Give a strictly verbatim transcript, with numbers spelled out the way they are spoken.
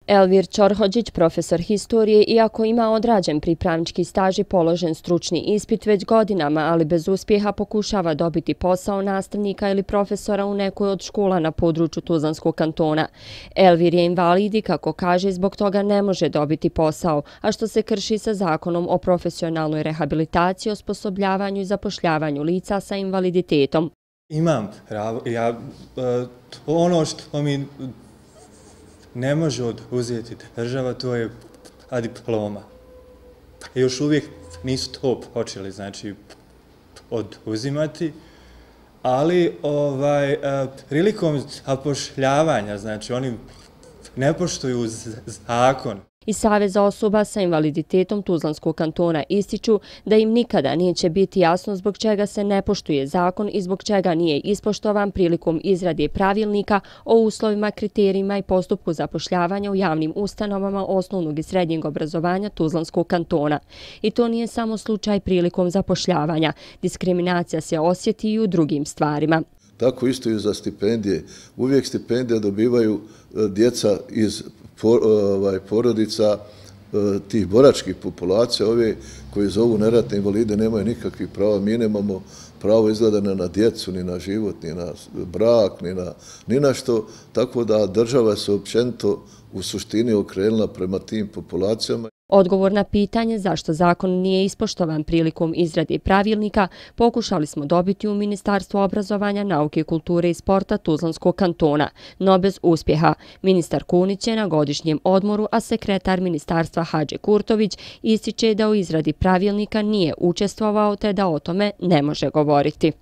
Elvir Ćorhođić, profesor historije, iako ima odrađen pripravnički staž i položen stručni ispit već godinama, ali bez uspjeha pokušava dobiti posao nastavnika ili profesora u nekoj od škola na području Tuzlanskog kantona. Elvir je invalid i, kako kaže, zbog toga ne može dobiti posao, a što se krši sa zakonom o profesionalnoj rehabilitaciji, osposobljavanju i zapošljavanju lica sa invaliditetom. Imam pravo, ja, ono što mi ne može oduzeti država, to je diploma. Još uvijek nisu to počeli, znači, oduzimati, ali ovaj, prilikom zapošljavanja, znači, oni ne poštuju zakon. Iz Saveza osoba sa invaliditetom Tuzlanskog kantona ističu da im nikada neće biti jasno zbog čega se ne poštuje zakon i zbog čega nije ispoštovan prilikom izrade pravilnika o uslovima, kriterijima i postupku zapošljavanja u javnim ustanovama osnovnog i srednjeg obrazovanja Tuzlanskog kantona. I to nije samo slučaj prilikom zapošljavanja. Diskriminacija se osjeti i u drugim stvarima. Tako isto i za stipendije. Uvijek stipendije dobivaju djeca iz porodica tih boračkih populacija, ove koji zovu neratne invalide nemaju nikakvih prava. Mi nemamo pravo izgleda na djecu, ni na život, ni na brak, ni na, ni na što. Tako da država se općenito u suštini okrenula prema tim populacijama. Odgovor na pitanje zašto zakon nije ispoštovan prilikom izrade pravilnika pokušali smo dobiti u Ministarstvu obrazovanja, nauke, kulture i sporta Tuzlanskog kantona, no bez uspjeha. Ministar Kunić je na godišnjem odmoru, a sekretar ministarstva Hadži Kurtović ističe da u izradi pravilnika nije učestvovao te da o tome ne može govoriti.